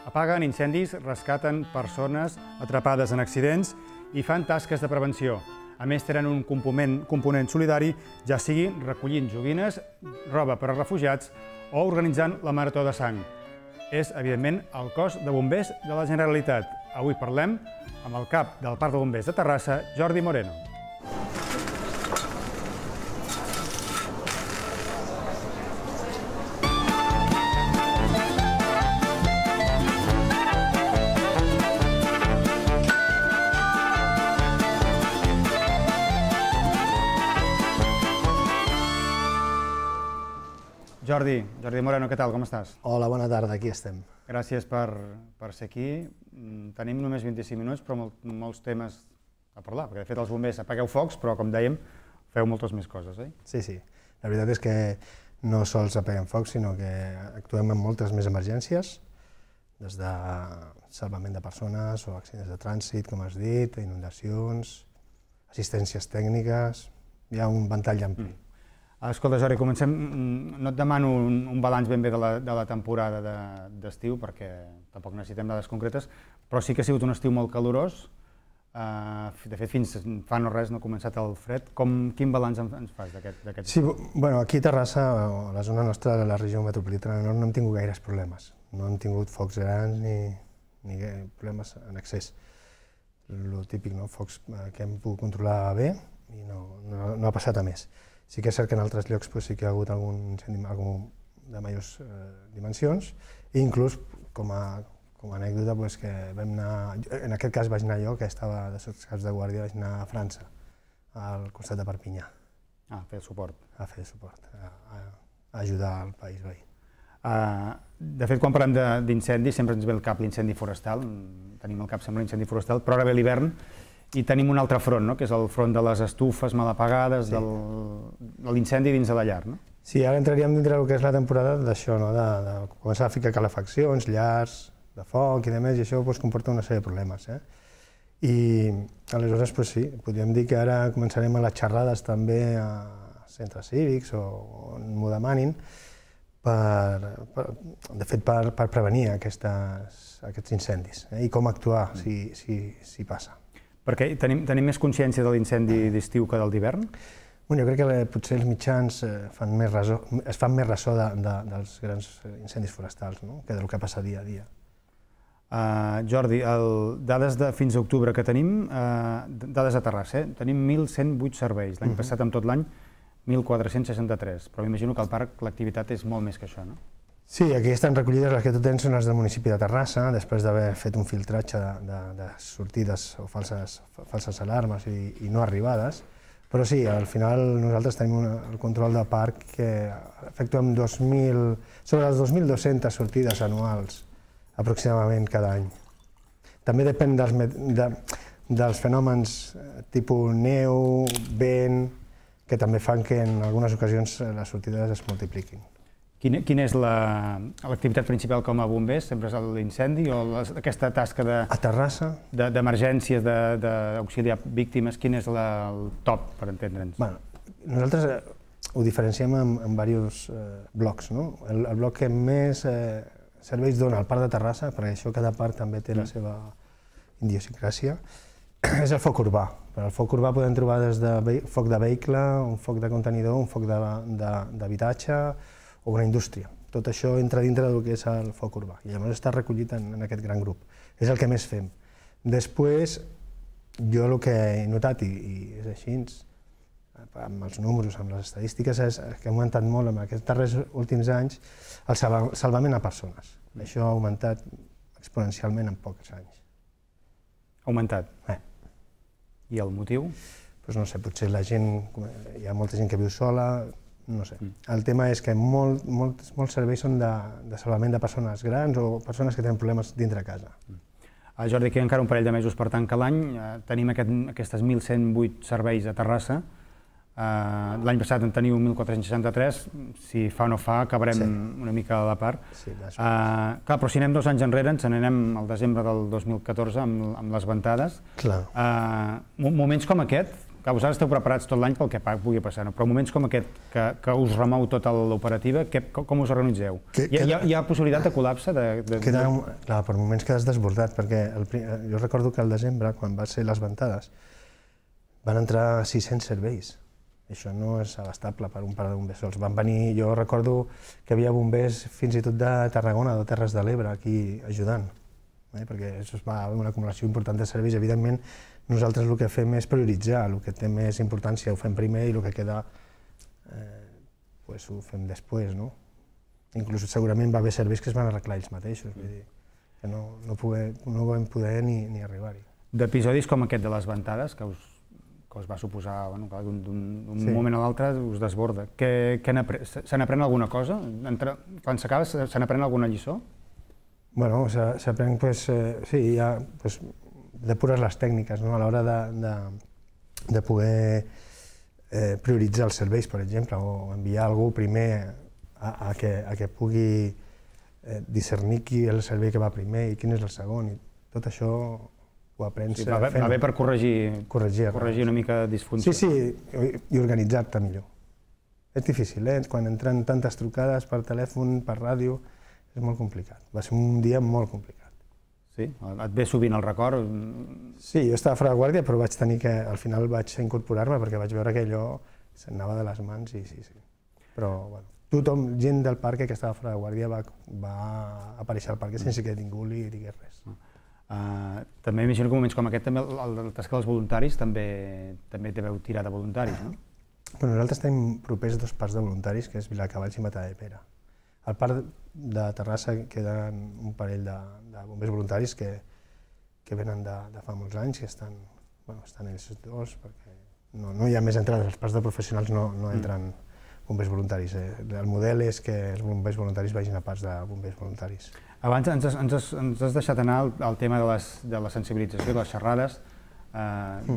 Apaguen incendis, rescaten persones atrapades en accidents i fan tasques de prevenció. A més, tenen un component solidari, ja sigui recollint joguines, roba per a refugiats o organitzant la Marató de Sang. És, evidentment, el cos de bombers de la Generalitat. Avui parlem amb el cap del Parc de Bombers de Terrassa, Jordi Moreno. Jordi Moreno, què tal? Com estàs? Hola, bona tarda, aquí estem. Gràcies per ser aquí. Tenim només 25 minuts, però molts temes a parlar, perquè de fet els bombers apagueu focs, però com dèiem, feu moltes més coses, oi? Sí. La veritat és que no sols apaguem focs, sinó que actuem en moltes més emergències, des de salvament de persones o accidents de trànsit, com has dit, inundacions, assistències tècniques, hi ha un ventall ampli. Escolta, Jordi, comencem. No et demano un balanç ben bé de la temporada d'estiu, perquè tampoc necessitem dades concretes, però sí que ha sigut un estiu molt calorós. De fet, fins fa no res no ha començat el fred. Quin balanç ens fas d'aquest estiu? Sí, aquí a Terrassa, a la zona nostra de la regió metropolitana nord, no hem tingut gaires problemes. No hem tingut focs grans ni problemes en excés. El típic, focs que hem pogut controlar bé i no ha passat a més. Sí que és cert que en altres llocs sí que hi ha hagut algun incendi de majors dimensions, i inclús, com a anècdota, que vam anar, en aquest cas vaig anar jo, que estava de sotscaps de guàrdia, vaig anar a França, al costat de Perpinyà. A fer suport. A fer suport, a ajudar al país veí. De fet, quan parlem d'incendis, sempre ens ve al cap l'incendi forestal, tenim al cap sempre l'incendi forestal, però ara ve l'hivern, i tenim un altre front, que és el front de les estufes mal apagades, de l'incendi dins de la llar. Sí, ara entraríem dintre del que és la temporada d'això, de començar a ficar calefaccions, llars de foc i demés, i això comporta una sèrie de problemes. I aleshores, sí, podríem dir que ara començarem a les xerrades també a centres cívics o on m'ho demanin, de fet, per prevenir aquests incendis i com actuar si passa. Perquè tenim més consciència de l'incendi d'estiu que del d'hivern? Jo crec que potser els mitjans es fan més ressò dels grans incendis forestals que del que passa dia a dia. Jordi, dades de fins a octubre que tenim, dades a Terrassa, tenim 1.108 serveis. L'any passat, amb tot l'any, 1.463, però m'imagino que al parc l'activitat és molt més que això, no? Sí, aquí estan recollides les que tu tens, són les del municipi de Terrassa, després d'haver fet un filtratge de sortides o falses alarmes i no arribades, però sí, al final nosaltres tenim el control del parc que efectuem sobre les 2.200 sortides anuals aproximadament cada any. També depèn dels fenòmens tipus neu, vent, que també fan que en algunes ocasions les sortides es multipliquin. Quina és l'activitat principal com a bombers? Sempre és l'incendi o aquesta tasca d'emergències, d'auxiliar víctimes? Quin és el top, per entendre'ns? Nosaltres ho diferenciem en diversos blocs. El bloc que més serveis dona al Parc de Terrassa, perquè això cada parc també té la seva idiosincràsia, és el foc urbà. Per al foc urbà podem trobar des de foc de vehicle, un foc de contenidor, un foc d'habitatge o una indústria. Tot això entra dintre del que és el foc urbà i llavors està recollit en aquest gran grup. És el que més fem. Després, jo el que he notat, i és així, amb els números, amb les estadístiques, és que ha augmentat molt en aquests darrers últims anys el salvament a persones. Això ha augmentat exponencialment en pocs anys. Ha augmentat? I el motiu? No sé, potser la gent, hi ha molta gent que viu sola, no sé. El tema és que molts serveis són de salvament de persones grans o persones que tenen problemes dintre casa. Jordi, queden encara un parell de mesos per tancar l'any. Tenim aquestes 1.108 serveis a Terrassa. L'any passat en teniu 1.463. Si fa o no fa, acabarem una mica a la part. Clar, però si anem 2 anys enrere, ens n'anem al desembre del 2014 amb les ventades. Moments com aquest, que vosaltres esteu preparats tot l'any pel que pugui passar, però moments com aquest, que us remou tota l'operativa, com us organitzeu? Hi ha possibilitat de col·lapse? Clar, per moments quedes desbordat, perquè jo recordo que al desembre, quan va ser les ventades, van entrar 600 serveis. Això no és abastable per un parc de bombers sols. Van venir, jo recordo que hi havia bombers fins i tot de Tarragona, de Terres de l'Ebre, aquí ajudant, perquè es va haver una acumulació important de serveis. Evidentment, nosaltres el que fem és prioritzar, el que té més importància ho fem primer i el que queda ho fem després. Inclús segurament va haver serveis que es van arreglar ells mateixos, vull dir que no vam poder ni arribar-hi. D'episodis com aquest de les ventades, que us va suposar, d'un moment a l'altre us desborda, se n'aprèn alguna cosa? Quan s'acaba se n'aprèn alguna lliçó? Bueno, s'aprèn, sí, hi ha depures les tècniques a l'hora de poder prioritzar els serveis, per exemple, o enviar algú primer a que pugui discernir qui és el servei que va primer i quin és el segon. Tot això ho aprens fent. Va bé per corregir una mica de disfunció. Sí, i organitzar-te millor. És difícil, quan entren tantes trucades per telèfon, per ràdio, és molt complicat. Va ser un dia molt complicat. Sí? Et ve sovint el record? Sí, jo estava fora de guàrdia, però vaig tenir que, al final vaig incorporar-me perquè vaig veure que allò s'anava de les mans i sí. Però, bueno, tothom, gent del parc que estava fora de guàrdia va aparèixer al parc sense que ningú li digués res. També imagino que en moments com aquest, el tasca dels voluntaris també deveu tirar de voluntaris, no? Nosaltres tenim propers 2 parcs de voluntaris, que és Viladecavalls i Matadepera. Al parc de Terrassa queden un parell de bombers voluntaris que venen de fa molts anys i estan ells dos, perquè no hi ha més entrades. Als parcs de professionals no entren bombers voluntaris. El model és que els bombers voluntaris vagin a parcs de bombers voluntaris. Abans ens has deixat anar al tema de la sensibilització, de les xerrades,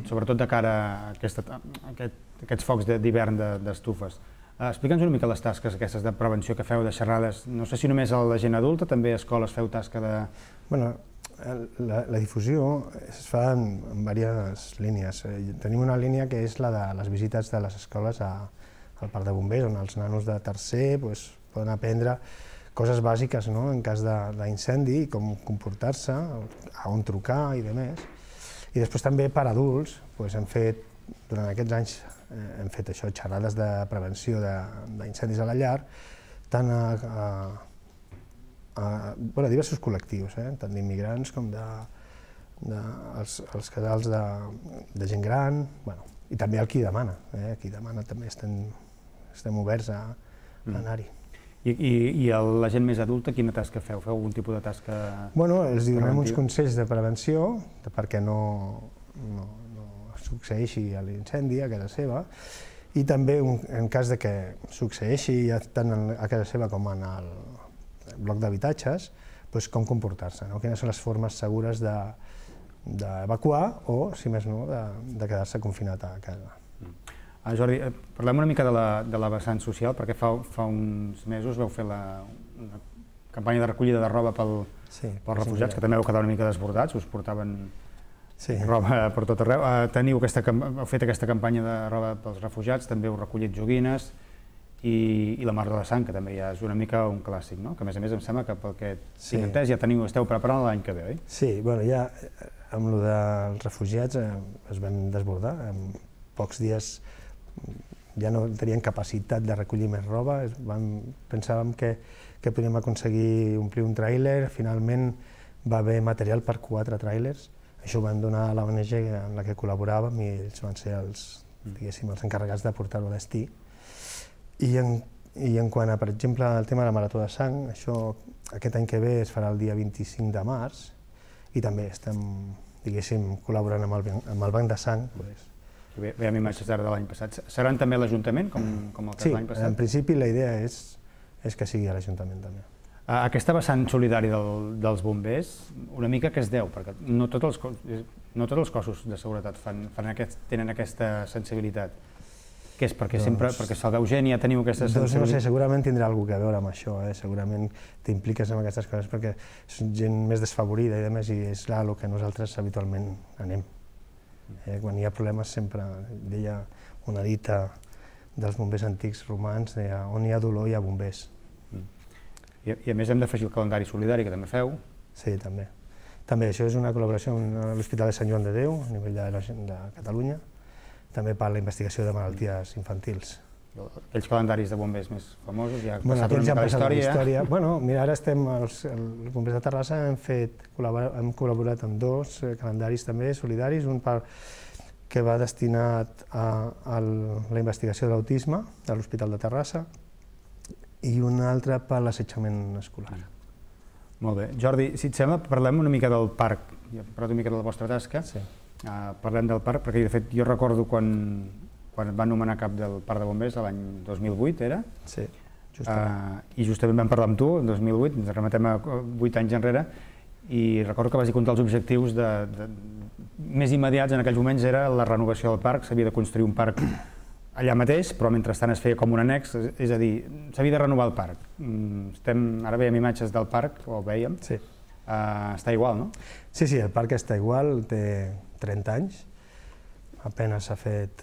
sobretot de cara a aquests focs d'hivern d'estufes. Explica'ns una mica les tasques aquestes de prevenció que feu, de xerrades. No sé si només a la gent adulta, també a escoles feu tasca de... Bueno, la difusió es fa en diverses línies. Tenim una línia que és la de les visites de les escoles al parc de bombers, on els nanos de tercer poden aprendre coses bàsiques en cas d'incendi, com comportar-se, a on trucar i demés. I després també per adults hem fet, durant aquests anys, hem fet això, xerrades de prevenció d'incendis a la llar, tant a diversos col·lectius, tant d'immigrants com dels casals de gent gran, i també el qui demana. Qui demana també estem oberts a anar-hi. I la gent més adulta, quina tasca feu? Feu algun tipus de tasca preventiva? Els donem uns consells de prevenció perquè no succeeixi l'incendi a casa seva, i també en cas que succeeixi tant a casa seva com en el bloc d'habitatges, com comportar-se, quines són les formes segures d'evacuar o, si més no, de quedar-se confinat a casa. Jordi, parlem una mica de la vessant social, perquè fa uns mesos vau fer una campanya de recollida de roba pels refugiats, que també vau quedar una mica desbordats, us portaven roba per tot arreu. Heu fet aquesta campanya de roba pels refugiats, també heu recollit joguines i la Mar de la Sang, que també ja és una mica un clàssic, que a més em sembla que pel que tinc entès ja esteu preparant l'any que ve, oi? Sí, ja amb el dels refugiats es vam desbordar. En pocs dies ja no tenien capacitat de recollir més roba, pensàvem que podíem aconseguir omplir un tràiler, finalment va haver material per 4 tràilers. Això ho vam donar a l'ONG en la que col·laboràvem i ells van ser els encarregats de portar-ho a destí. I en quant a, per exemple, el tema de la Marató de Sang, això aquest any que ve es farà el dia 25 de març i també estem, col·laborant amb el Banc de Sang. Veiem imatges d'ara de l'any passat. Seran també a l'Ajuntament, com el cas de l'any passat? Sí, en principi la idea és que sigui a l'Ajuntament també. Aquesta vessant solidària dels bombers, una mica què es deu? Perquè no tots els cossos de seguretat tenen aquesta sensibilitat. Què és? Perquè se'l veu gent i ja teniu aquesta sensibilitat? No sé, segurament tindrà alguna cosa a veure amb això, segurament t'impliques en aquestes coses perquè és gent més desfavorida i és el que nosaltres habitualment anem. Quan hi ha problemes sempre deia una dita dels bombers antics romans, deia on hi ha dolor hi ha bombers. I a més hem d'afegir el calendari solidari que també feu. Sí, també. També això és una col·laboració amb l'Hospital de Sant Joan de Déu, a nivell de Catalunya, també per la investigació de malalties infantils. Aquells calendaris de bombers més famosos, ja han Bueno, passat una aquells ja mica han la passat la història. història. Bueno, mira, ara estem, els bombers de Terrassa hem col·laborat amb dos calendaris també solidaris, un que va destinat a la investigació de l'autisme de l'Hospital de Terrassa i un altre per l'assetjament escolar. Molt bé. Jordi, si et sembla, parlem una mica del parc. Ja hem parlat una mica de la vostra tasca. Sí. Parlem del parc, perquè de fet jo recordo quan et van nomenar cap del parc de bombers l'any 2008, era? Sí, justament. I justament vam parlar amb tu, el 2008, ens remetem a 8 anys enrere, i recordo que vas dir que un dels objectius més immediats en aquells moments era la renovació del parc. S'havia de construir un parc allà mateix, però mentrestant es feia com un annex, és a dir, s'havia de renovar el parc. Ara veiem imatges del parc, o veiem, està igual, no? Sí, el parc està igual, té 30 anys, apenas s'ha fet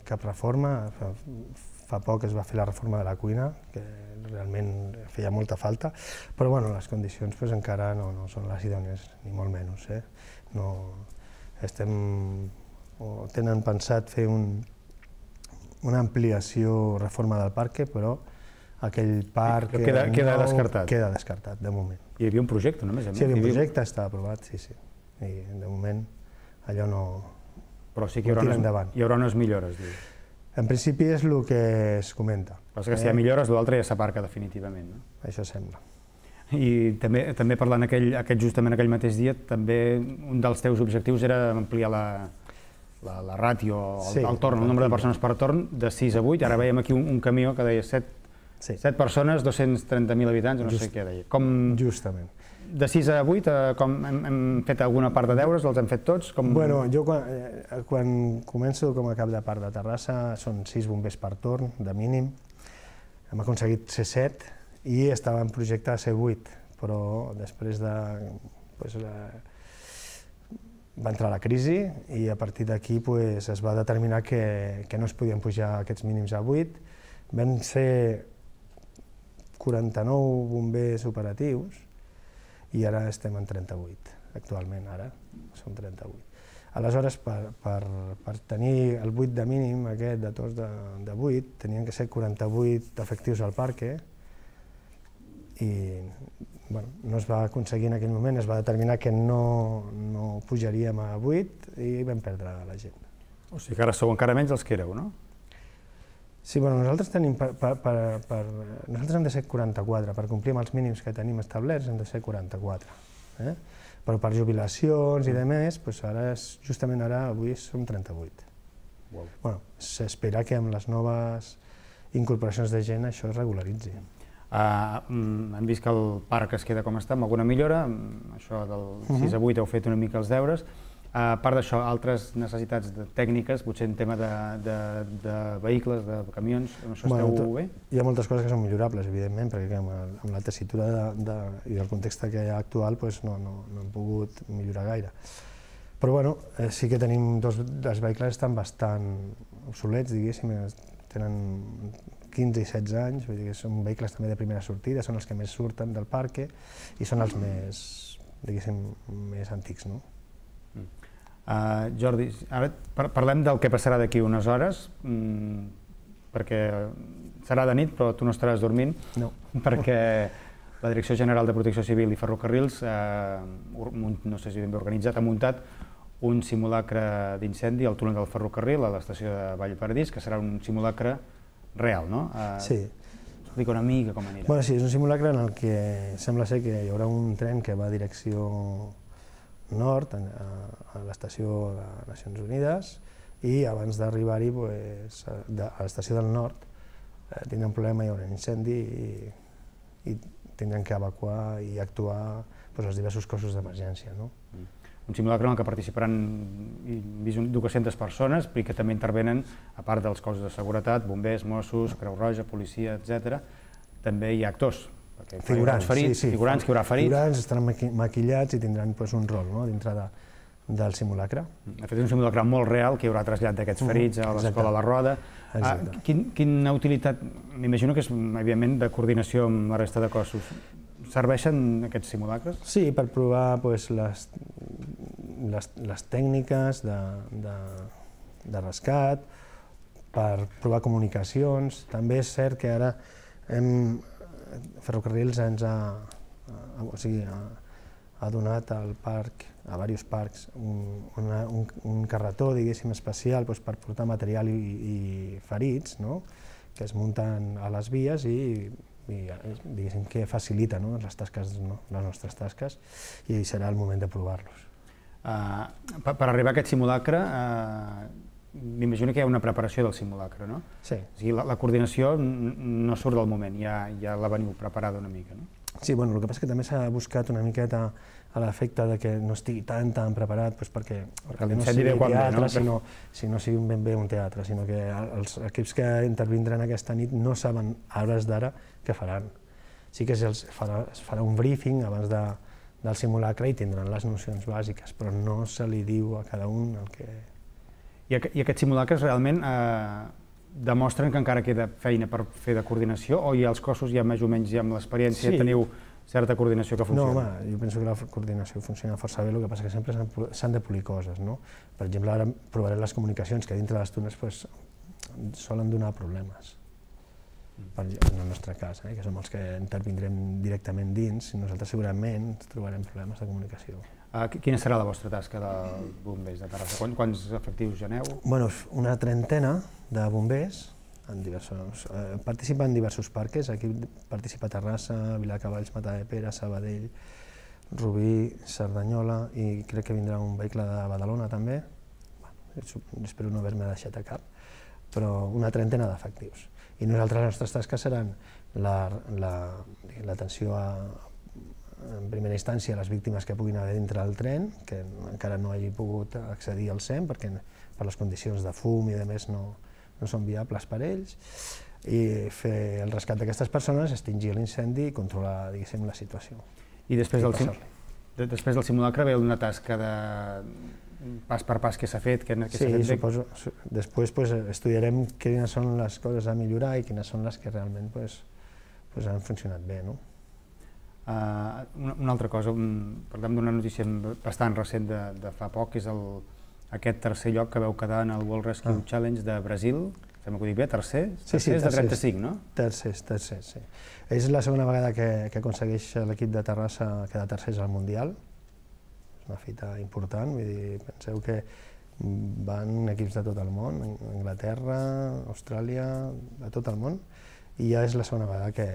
cap reforma, fa poc es va fer la reforma de la cuina, que realment feia molta falta, però bueno, les condicions encara no són les idònies, ni molt menys. Tenen pensat fer una ampliació, reforma del parc, però aquell parc queda descartat. Queda descartat, de moment. Hi havia un projecte, només? Sí, hi havia un projecte, està aprovat, sí. I de moment allò no... Però sí que hi haurà unes millores, diu. En principi és el que es comenta. Però és que si hi ha millores, l'altre ja s'aparca definitivament, no? Això sembla. I també parlant justament aquell mateix dia, també un dels teus objectius era ampliar la ràtio, el torn, el nombre de persones per torn, de 6 a 8. Ara veiem aquí un camió que deia 7 persones, 230.000 habitants, no sé què deia. Justament. De 6 a 8, hem fet alguna part de deures, els hem fet tots? Bueno, jo quan començo com a cap de parc de Terrassa són 6 bombers per torn, de mínim. Hem aconseguit ser 7 i estava en projecte de ser 8, però després va entrar la crisi i a partir d'aquí es va determinar que no es podien pujar aquests mínims a 8. Vam ser 49 bombers operatius i ara estem en 38, actualment, ara som 38. Aleshores, per tenir el 8 de mínim, aquest de tots de 8, tenien que ser 48 efectius al parc i no es va aconseguir en aquell moment, es va determinar que no pujaríem a 8 i vam perdre la gent. O sigui que ara sou encara menys els que éreu, no? Sí, nosaltres hem de ser 44, per complir amb els mínims que tenim establerts hem de ser 44. Però per jubilacions i demés, justament ara, avui som 38. S'espera que amb les noves incorporacions de gent això es regularitzi. Hem vist que el parc es queda com està, amb alguna millora, això del 6 a 8 heu fet una mica els deures. A part d'això, altres necessitats tècniques, potser en tema de vehicles, de camions, amb això esteu bé? Hi ha moltes coses que són millorables, evidentment, perquè amb la tessitura i el context que hi ha actual no hem pogut millorar gaire. Però sí que tenim els vehicles estan bastant obsolets, diguéssim, tenen 15 i 16 anys, vull dir que són vehicles també de primera sortida, són els que més surten del parc i són els més, diguéssim, més antics, no? Jordi, ara parlem del que passarà d'aquí unes hores, perquè serà de nit, però tu no estaràs dormint, perquè la Direcció General de Protecció Civil i Ferrocarrils, no sé si ben bé organitzat, ha muntat un simulacre d'incendi al túnel del ferrocarril a l'estació de Vallparadís, que serà un simulacre real, no? Sí. Explica una mica com anirà. Sí, és un simulacre en el que sembla ser que hi haurà un tren que va a direcció nord, a l'estació de Nacions Unides, i abans d'arribar-hi a l'estació del nord tindran un problema, hi haurà un incendi i tindran que evacuar i actuar els diversos cossos d'emergència. Un simulacre en el que participaran 200 persones i que també intervenen, a part dels cossos de seguretat, bombers, Mossos, Creu Roja, policia, etc. També hi ha actors. Figurants, figurants que hi haurà ferits. Figurants estaran maquillats i tindran un rol dintre del simulacre. De fet, és un simulacre molt real que hi haurà trasllat d'aquests ferits a l'Escola La Roda. Quina utilitat, m'imagino que és, evidentment, de coordinació amb la resta de cossos. Serveixen aquests simulacres? Sí, per provar les tècniques de rescat, per provar comunicacions. També és cert que ara Ferrocarrils ens ha donat al parc, a diversos parcs, un carretó, diguéssim, especial per portar material i ferits, que es munten a les vies i diguéssim que facilita les nostres tasques, i serà el moment de provar-los. Per arribar a aquest simulacre, m'imagino que hi ha una preparació del simulacre, no? Sí. O sigui, la coordinació no surt del moment, ja la veniu preparada una mica, no? Sí, el que passa és que també s'ha buscat una miqueta a l'efecte que no estigui tan preparat perquè no sigui teatre, sinó sigui ben bé un teatre, sinó que els equips que intervindran aquesta nit no saben a hores d'ara què faran. Sí que es farà un briefing abans del simulacre i tindran les nocions bàsiques, però no se li diu a cada un el que... I aquests simulacres realment demostren que encara queda feina per fer de coordinació, o ja els cossos ja més o menys amb l'experiència teniu certa coordinació que funciona? No, home, jo penso que la coordinació funciona força bé, el que passa és que sempre s'han de polir coses, no? Per exemple, ara provaré les comunicacions, que dintre de les túnels solen donar problemes, en el nostre cas, que som els que intervindrem directament dins, i nosaltres segurament trobarem problemes de comunicació. Quina serà la vostra tasca de bombers de Terrassa? Quants efectius hi aneu? Una trentena de bombers, participen en diversos parques. Aquí participa Terrassa, Viladecavalls, Matadepera, Sabadell, Rubí, Cerdanyola, i crec que vindrà un vehicle de Badalona també. Espero no haver-me deixat a cap, però una trentena d'efectius. I nosaltres, les nostres tasques seran l'atenció en primera instància a les víctimes que puguin haver dintre del tren, que encara no hagi pogut accedir al SEM perquè per les condicions de fum i de més no són viables per ells, i fer el rescat d'aquestes persones, extingir l'incendi i controlar, diguéssim, la situació. I després del simulacre ve una tasca de pas per pas que s'ha fet? Sí, suposo. Després estudiarem quines són les coses a millorar i quines són les que realment han funcionat bé. Una altra cosa, parlem d'una notícia bastant recent de fa poc, és aquest tercer lloc que vau quedar en el World Rescue Challenge de Brasil. Sembla que ho dic bé, tercer? Tercers de 35, no? Tercers, sí. És la segona vegada que aconsegueix l'equip de Terrassa quedar tercers al Mundial. És una fita important, vull dir, penseu que van equips de tot el món, Anglaterra, Austràlia, de tot el món, i ja és la segona vegada que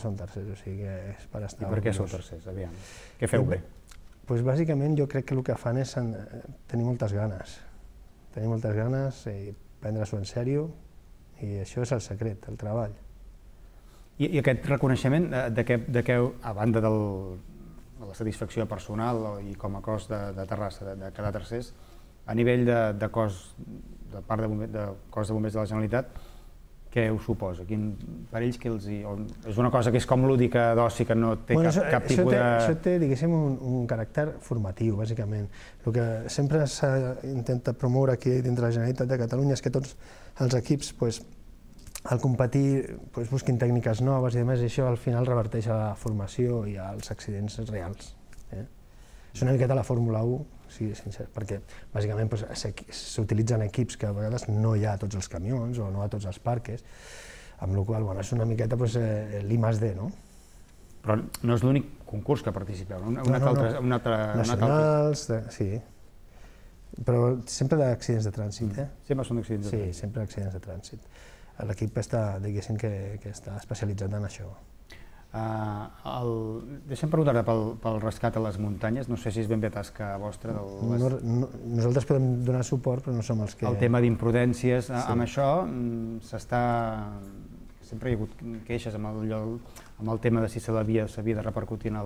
són tercers, o sigui que és per estar... I per què sou tercers, aviam? Què feu bé? Doncs bàsicament jo crec que el que fan és tenir moltes ganes. Tenir moltes ganes i prendre-s'ho en sèrio, i això és el secret, el treball. I aquest reconeixement de què, a banda de la satisfacció personal i com a cos de Terrassa, de quedar tercers, a nivell de cos de cos de bombers de la Generalitat, què us suposa? Per ells és una cosa que és com lúdica d'oci, que no té cap tipus de... Això té, diguéssim, un caràcter formatiu, bàsicament. El que sempre s'intenta promoure aquí dintre de la Generalitat de Catalunya és que tots els equips, al competir, busquin tècniques noves i a més això al final reverteix a la formació i als accidents reals. És una miqueta la Fórmula 1, sí, sincer, perquè bàsicament s'utilitzen equips que a vegades no hi ha a tots els camions o no a tots els parques, amb la qual cosa és una miqueta l'I+D, no? Però no és l'únic concurs que participeu, no? Nacionals, sí, però sempre d'accidents de trànsit, Sempre són d'accidents de trànsit? Sí, sempre d'accidents de trànsit. L'equip està, diguéssim, que està especialitzat en això. Deixa'm preguntar-te pel rescat a les muntanyes, no sé si és ben bé tasca vostra. Nosaltres podem donar suport, però no som els que... El tema d'imprudències, amb això s'està... Sempre hi ha hagut queixes amb el tema de si s'havia de repercutir en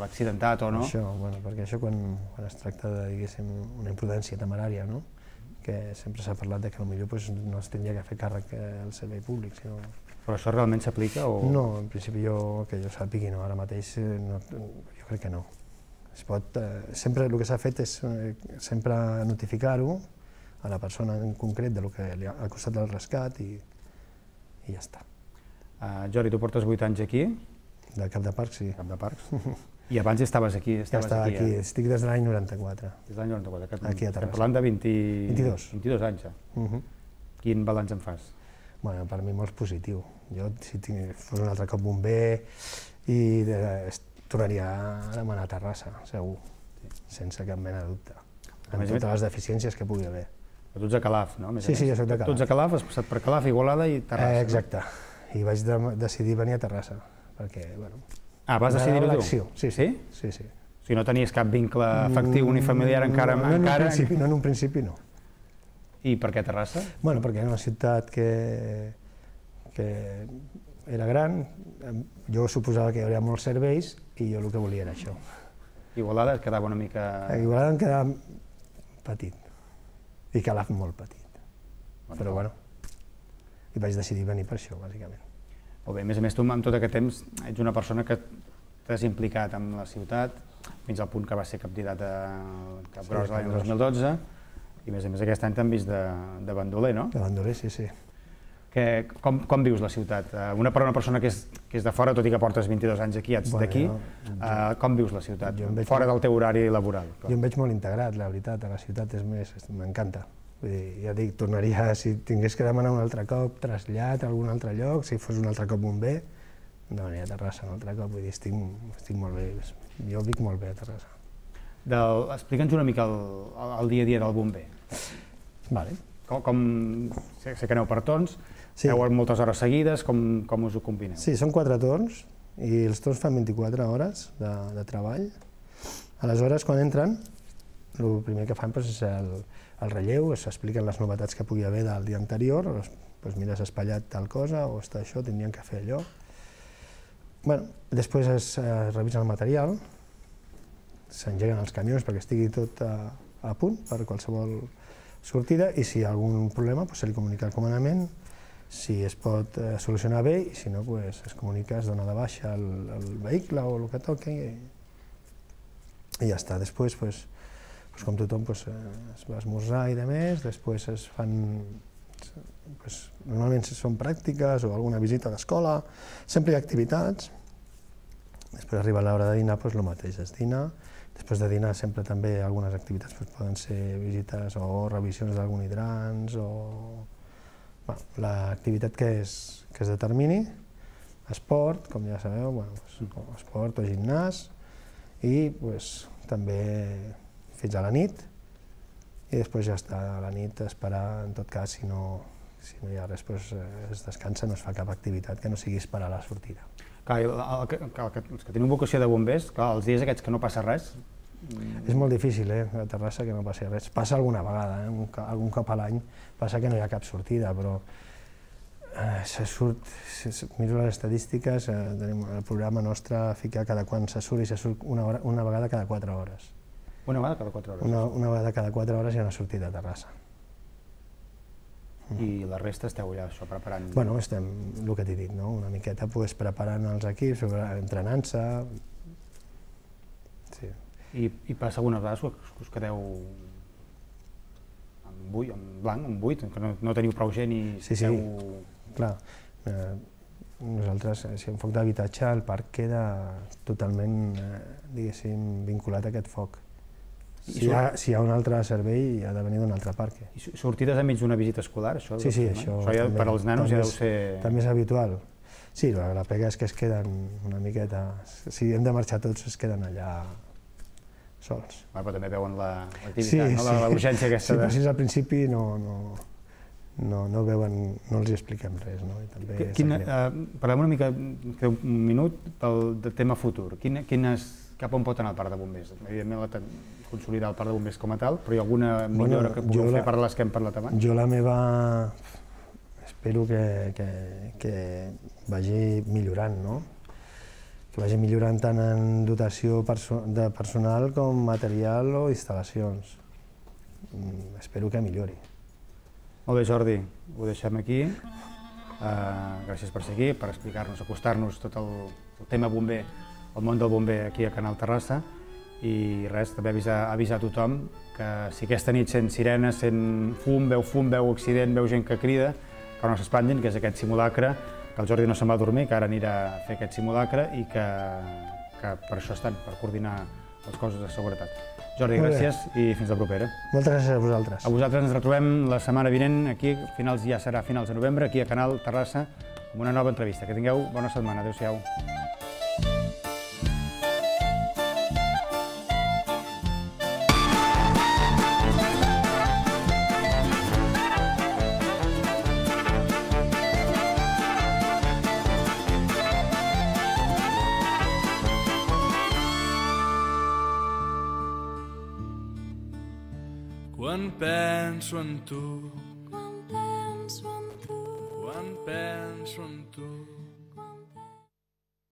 l'accidentat o no. Això, perquè això quan es tracta de, diguéssim, una imprudència temerària, no? Que sempre s'ha parlat que potser no es tindria que fer càrrec al servei públic, sinó... Però això realment s'aplica o...? No, en principi que jo sàpigui no, ara mateix jo crec que no. Sempre el que s'ha fet és sempre notificar-ho a la persona en concret del que ha costat el rescat i ja està. Jordi, tu portes 8 anys aquí? De cap de parc, sí. Cap de parcs. I abans ja estaves aquí? Ja estava aquí, estic des de l'any 94. Des de l'any 94, aquí a Terrassa. Estem parlant de 22 anys. Quin balanç en fas? Bueno, per mi molt positiu. Jo, si fos un altre cop bomber, tornaria a demanar a Terrassa, segur, sense cap mena de dubte, amb totes les deficiències que pugui haver. Però tu ets de Calaf, no? Sí, jo soc de Calaf. Tu ets de Calaf, has passat per Calaf, Igualada i Terrassa. Exacte, i vaig decidir venir a Terrassa, perquè, bueno... Vas decidir-ho tu? Sí. O sigui, no tenies cap vincle afectiu ni familiar encara? No, en un principi no. I per què Terrassa? Bueno, perquè era una ciutat que era gran, jo suposava que hi hauria molts serveis i jo el que volia era això. Igualada et quedava una mica... Igualada em quedava petit, i Calaf molt petit, però bueno, i vaig decidir venir per això, bàsicament. Molt bé, a més, tu amb tot aquest temps ets una persona que t'has implicat amb la ciutat fins al punt que vas ser candidat a Cap Gros l'any 2012 i a més aquest any t'han vist de bandoler, no? De bandoler, sí. Com vius la ciutat? Per una persona que és de fora, tot i que portes 22 anys aquí, ets d'aquí, com vius la ciutat, fora del teu horari laboral? Jo em veig molt integrat, la veritat, a la ciutat m'encanta. Ja dic, tornaria, si tingués que demanar un altre cop trasllat a algun altre lloc, si fos un altre cop bomber, demanaria a Terrassa un altre cop, vull dir, estic molt bé, jo vic molt bé a Terrassa. Explica'ns una mica el dia a dia del bomber. Vale. Sé que aneu per torns, feu moltes hores seguides, com us ho combineu? Sí, són 4 torns i els torns fan 24 hores de treball. Aleshores, quan entren, el primer que fan és el relleu, s'expliquen les novetats que pugui haver del dia anterior, mira, s'ha espatllat tal cosa o està això, tindrien que fer allò. Després es revisa el material, s'engeguen els camions perquè estigui tot a punt per qualsevol sortida i si hi ha algun problema se li comunica al comandament, si es pot solucionar bé i si no es comunica, es dona de baixa el vehicle o el que toqui i ja està. Després, com tothom, es va esmorzar i demés, després es fan, normalment són pràctiques o alguna visita a l'escola, sempre hi ha activitats, després arriba l'hora de dinar, el mateix, es dina. Després de dinar sempre també algunes activitats poden ser visites o revisions d'algun hidrans o l'activitat que es determini, esport, com ja sabeu, esport o gimnàs i també fins a la nit i després ja està a la nit esperar, en tot cas, si no hi ha res, es descansa, no es fa cap activitat que no sigui esperar la sortida. Els que tenen vocació de bombers, els dies aquests que no passa res... És molt difícil, a Terrassa, que no passi res. Passa alguna vegada, algun cop a l'any passa que no hi ha cap sortida, però se surt, miro les estadístiques, tenim el programa nostre fica cada quan se surt i se surt una vegada cada 4 hores. Una vegada cada 4 hores? Una vegada cada 4 hores hi ha una sortida a Terrassa. I la resta esteu allà preparant? Bueno, estem, el que t'he dit, una miqueta preparant els equips, entrenant-se. I passa algunes vegades que us quedeu en blanc, en buit, que no teniu prou gent i... Sí, clar. Nosaltres, si en foc d'habitatge, el parc queda totalment, diguéssim, vinculat a aquest foc. Si hi ha un altre servei, ha de venir d'un altre parc. I sortides enmig d'una visita escolar, això? Sí, això per als nanos ja deu ser... També és habitual. Sí, la pega és que es queden una miqueta... Si hem de marxar tots, es queden allà sols. Però també veuen l'activitat, la urgència aquesta. Sí, però si al principi no veuen, no els expliquem res. Parlem una mica, un minut, del tema futur. Cap on pot anar el parc de bombers? Evidentment, consolidar el parc de bombers com a tal, però hi ha alguna millora que pugueu fer per les que hem parlat abans? Jo la meva... espero que vagi millorant, no? Que vagi millorant tant en dotació de personal com material o instal·lacions. Espero que millori. Molt bé, Jordi, ho deixem aquí. Gràcies per ser aquí, per explicar-nos, acostar-nos tot el tema bomber, el món del bomber aquí a Canal Terrassa, i res, també avisar a tothom que si aquesta nit sent sirenes, sent fum, veu accident, veu gent que crida, que no s'espantin, que és aquest simulacre, que el Jordi no se'n va dormir, que ara anirà a fer aquest simulacre i que per això estan, per coordinar les coses de seguretat. Jordi, gràcies i fins la propera. Moltes gràcies a vosaltres. A vosaltres ens retrobem la setmana vinent, aquí, ja serà a finals de novembre, aquí a Canal Terrassa, amb una nova entrevista. Que tingueu bona setmana. Adéu-siau. Quan penso en tu, Quan penso en tu, quan penso en tu,